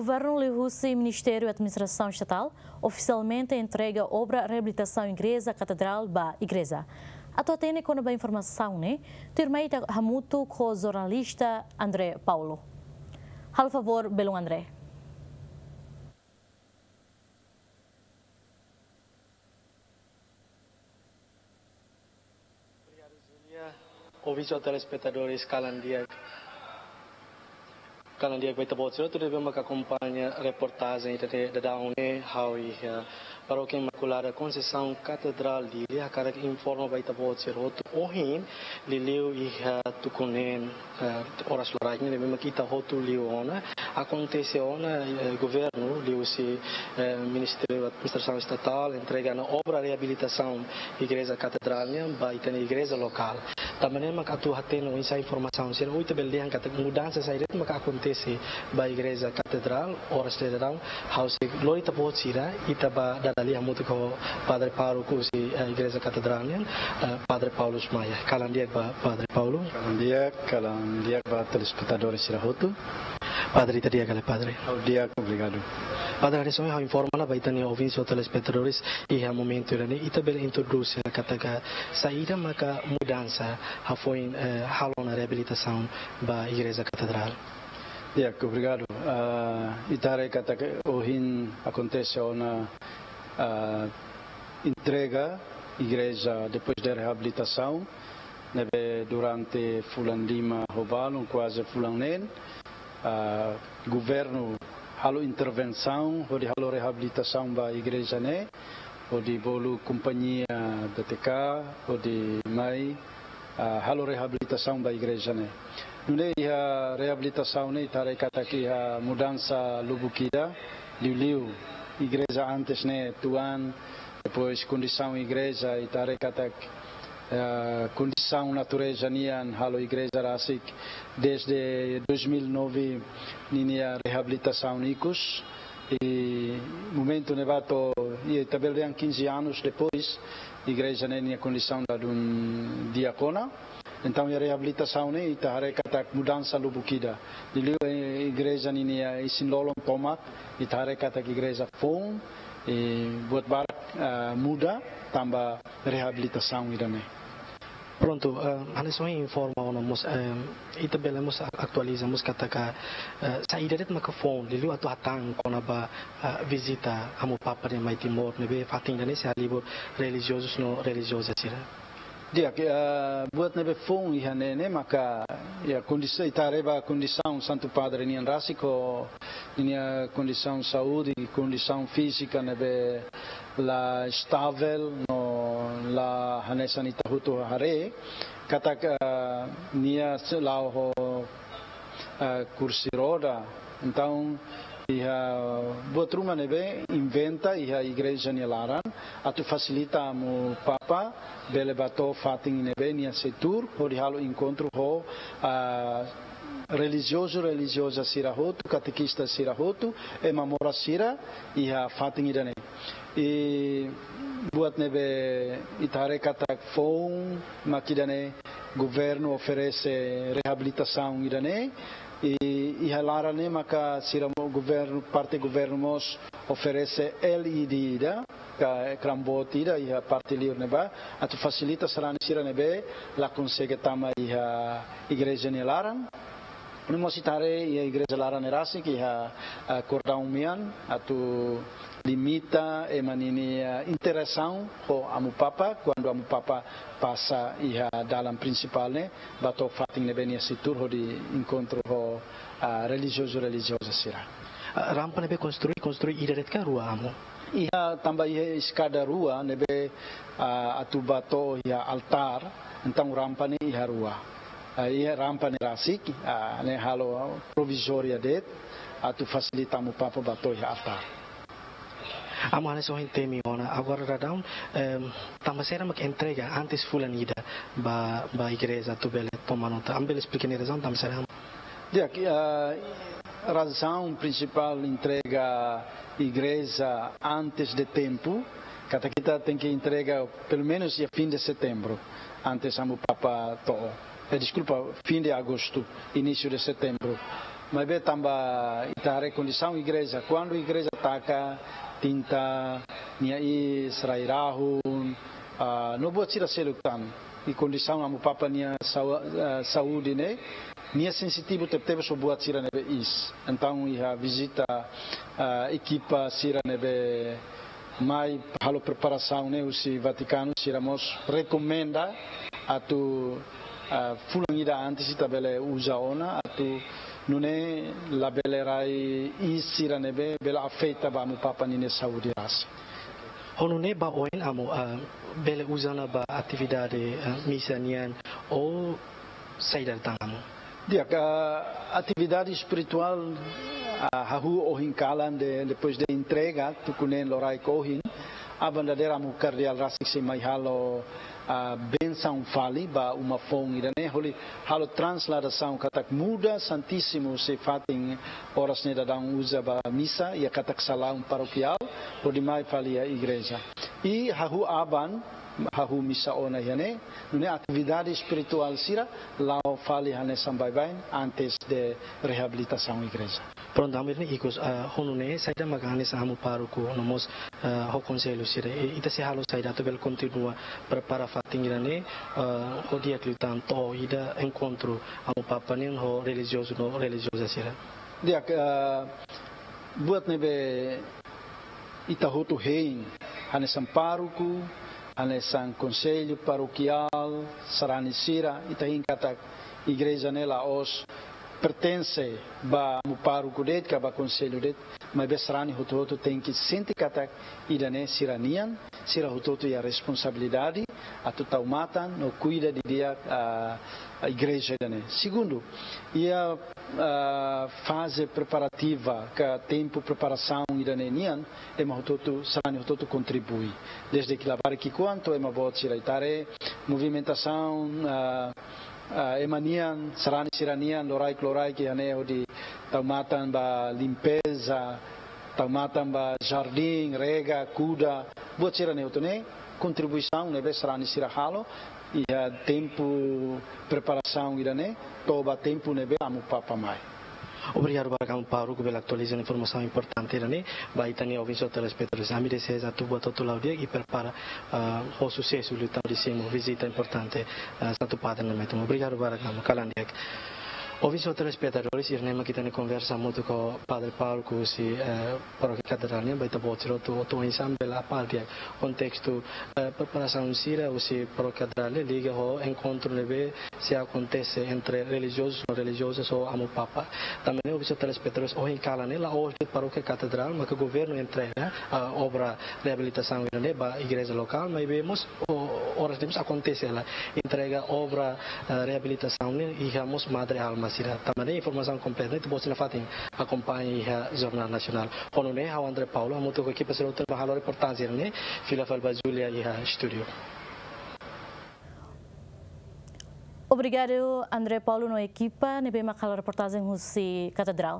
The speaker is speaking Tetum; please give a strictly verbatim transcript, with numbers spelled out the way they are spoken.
Governu liuhusi Ministériu Administrasaun Estatál ofisialmente entrega obra reabilitasaun Igreja Katedrál ba Igreja. Atu hatene kona-ba informasaun ne'e, tuirmai ita hamutuk ho jornalista André Paulo. Halo favór, belun André. Obrigadu, Júlia. Ouvinte no telespetadores, kalan di'ak. Kalan di'ak ba ita-boot sira hotu ne'ebé maka akompaña reportajen ida-ne'e daudaun ne'e, ha'u iha, eh, Parókia Imakulada Konseisaun Katedrál Dili, hakarak informa ba ita-boot sira hotu ohin, liuliu iha, eh, tuku neen, eh, oras loraik ne'e, ne'ebé maka ita hotu liu ona, akontese ona, eh, governu liuhusi, eh, Ministériu Administrasaun Estatál entrega ona obra reabilitasaun Igreja Katedrál nian ba ita-nia igreja lokál. Tanba ne'e maka atu hatene oinsá informasaun sira, ita bele dehan katak mudansa saida de'it maka akontese ba Igreja Katedrál oras daudaun, ha'u sei lori ita-boot sira, ita bá dada lia hamutuk ho Padre Pároku husi, eh, Igreja Katedrál nian, eh, Padre Paulus Maia. Kalan di'ak ba Padre Paulo. Kalan di'ak, kalan di'ak ba telespetadores sira hotu. Padre, ita di'ak ka lae, Padre? Ha'u di'ak, obrigadu. Padre, hanesan ohin ha'u informa ona ba ita-nia ouvinte no telespetadores, iha momentu ida-ne'e, ita bele introdús hela katak saida maka mudansa hafoin, eh, halo ona reabilitasaun ba Igreja Katedrál? Di'ak, obrigadu. Ah, ita haree katak ohin akontese ona, ah, entrega igreja depois de reabilitasaun, ne'ebé durante fulan lima ho balun, kuaze fulan neen, ah, governu halo intervensaun hodi halo reabilitasaun ba igreja ne'e, hodi bolu kompañia B T K hodi mai, ah, halo reabilitasaun ba igreja ne'e. Nune'e iha reabilitasaun ne'e ita haree katak iha mudansa lubuk ida, liuliu igreja antes ne'e tuan, depois kondisaun igreja, ita haree katak, eh, kondisaun natureza nian halo igreja rasik desde dois mil e nove ninia reabilitasaun ikus. I momentu ne'ebá to'o, i ita bele dehan quinze anos depois, igreja ne'e nia kondisaun ladún di'ak ona. Entaun, iha reabilitasaun ne'e, ita haree katak mudansa lubuk ida. Liuliu, eh, igreja ninia isin-lolon tomak, ita haree katak igreja foun, eh, buat barak, ah, muda, tanba reabilitasaun ida-ne'e. Prontu, eh, hanesan ohin informa ona mós, eh, ita bele mós a-, atualiza mós katak, eh, saida de'it maka foun, liuliu atu hatán kona-ba, eh, vizita Amu Papa nia mai Timor, ne'ebé fatin ida-ne'e sei halibur relijiozus no relijioza sira. Di'ak, eh, buat ne'ebé foun iha ne'e ne'e maka, iha kondis-, ita haree ba kondisaun Santu Padre nian rasik ho ninia kondisaun saúde, kondisaun fízika ne'ebé la estável, no la hanesan ita hotu haree, katak, eh, nia sei la'o ho, eh, kursi roda. Entaun, iha buat ruma ne'ebé inventa iha igreja nia laran, atu fasilita Amu Papa bele bá to'o fatin ne'ebé nia sei tuur, hodi halo enkontru ho, ah, relijiozu, relijioza sira hotu, katekista sira hotu, ema moras sira, iha fatin ida-ne'e. I buat ne'ebé ita haree katak foun, mak ida-ne'e governu oferese reabilitasaun ida-ne'e, i iha laran ne'e maka sira mo-, governu, parte governu mós oferese L E D ida, ka ekran boot ida iha parte liur ne'ebá, atu fasilita sarani sira ne'ebé la konsege tama iha igreja nia laran. Nune'e mós ita haree iha igreja laran ne'e rasik iha, ah, kordaun mean atu limita ema ninia, ah, interasaun ho Amu Papa, kuandu Amu Papa pasa iha dalan prinsipál ne'e, bá to'o fatin ne'ebé nia sei tuur hodi enkontru ho, ah, relijiozu, relijioza sira. Ah, rampa ne'ebé konstrui, konstrui ida de'it ka rua, Amu? Iha, tanba iha eskada rua ne'ebé, ah, atu bá to'o iha altár, entaun rampa ne'e iha rua. Ah, iha rampa ne'e rasik, ah, ne'e halo provizória de'it, atu fasilita Amu Papa bá to'o iha altár. Amu, hanesan ohin temi ona, agora daudaun, em, tanba saida mak entrega antes fulan ida ba, ba igreja atu bele toma nota. Amu bele esplika nia razaun, tanba saida, Amu? Di'ak, ah, razaun prinsipál entrega igreja antes de tempu, katak ita tenke entrega pelumenus iha fin de setembru, antes Amu Papa to'o. Eh, deskulpa, fin de agostu, inísiu de setembru. Maibé tanba ita haree kondisaun igreja, kuandu igreja taka tinta, nia iis, rai-rahun, ah, no buat sira seluk tan. I kondisaun Amu Papa nia sau-, ah, saúde ne'e, nia sensitivu tebetebes ho buat sira ne'ebé iis. Entaun iha vizita, ah, ekipa sira ne'ebé mai halo preparasaun ne'e husi Vatikanu, sira mós rekomenda atu, ah, fulan ida antes ita bele uza ona atu nune'e labele rai iis sira ne'ebé bele afeta ba Amu Papa ninia saúde rasik. Ho nune'e ba oin Amu, ah, bele uza ona ba atividade, ah, misa nian ou saida tan Amu? Di'ak, ah, atividade espirituál, ah, hahú ohin kalan de, depois de entrega, tuku neen loraik ohin, aban dadeer Amu Kardeál rasik sei mai halo, ah, bensaun fali ba uma foun ida-ne'e, hodi halo transladasaun katak muda Santísimu sei fatin oras ne'e daudaun uza ba misa, iha katak salaun parokiál, hodi mai fali iha igreja. I hahú aban, hahú misa ona iha ne'e, nune'e atividade espirituál sira la'o fali hanesan baibain antes de reabilitasaun igreja. Prontu, Amu, ikus, ah, ho nune'e saida maka hanesan Amu pároku no mós, ah, ho konsellu sira, i, ita sei halo saida atu bele kontinua prepara fatin ida-ne'e, ah, ho di'ak liután to'o ida enkontru Amu Papa nian ho relijiozu no relijioza sira? Di'ak, ah, buat ne'ebé ita hotu hein, hanesan pároku, hanesan konsellu parokiál, sarani sira, ita hein katak igreja ne'e la'ós pertense ba Amu pároku de'it ka ba konsellu de'it, maibé sarani hotu-hotu tenke sente katak ida-ne'e sira-nian, sira hotu-hotu iha responsabilidade atu tau matan no kuida didi'ak, ah, igreja ida-ne'e. Segundu, iha, ah, faze preparativa ka tempu preparasaun ida-ne'e nian, ema hotu-hotu, sarani hotu-hotu kontribui. Desde labarik ki'ikoan to'o ema boot sira, ita haree movimentasaun, ah, ah, ema nian, sarani sira-nian, loraik-loraik iha ne'e hodi tau matan ba limpeza, tau matan ba jardín, rega, kuda, buat sira-ne'e hotu ne'e kontribuisaun ne'ebé sarani sira halo iha tempu preparasaun ida-ne'e, to'o ba tempu ne'ebé Amu Papa mai. Obrigadu barak Amu pároku pela atualizasaun informasaun importante ida-ne'e ba ita-nia ouvinte telespetadór. Ami deseja atu buat hotu la'o di'ak i prepara, ah, ho susesu liután hodi simu vizita importante, ah, Santu Padre ne'e mai to'o. Obrigadu barak Amu, kalan di'ak. Ouvinte telespetadores, ida-ne'e mak ita-nia konversa hamutuk ho Padre pároku husi, eh, Parókia Katedrál nian, ba ita-boot sira hotu, hotu oinsá bele apal di'ak kontestu, eh, preparasaun sira husi Parókia Katedrál liga ho enkontru ne'ebé sei akontese entre relijiozus no relijiozas ho Amu Papa. Tanba ne'e, ouvinte telespetadores, ohin kalan ne'e la'ós de'it Parókia Katedrál maka governu entrega, ah, obra reabilitasaun ida-ne'e ba igreja lokál, maibé mós, o, oras ne'e mós akontese hela entrega obra, eh, reabilitasaun ne'e iha mós Madre Alma sira. Tanba ne'e informasaun kompletu ne'e ita-boot sei nafatin akompaña iha Jornál Nasionál. Ho nune'e ha'u André Paulo hamutuk ho ekipa sira hotu bá halo reportajen ne'e, fila fali ba Julia iha estúdiu. Obrigadu André Paulo no ekipa ne'ebé mak halo reportajen husi Katedrál.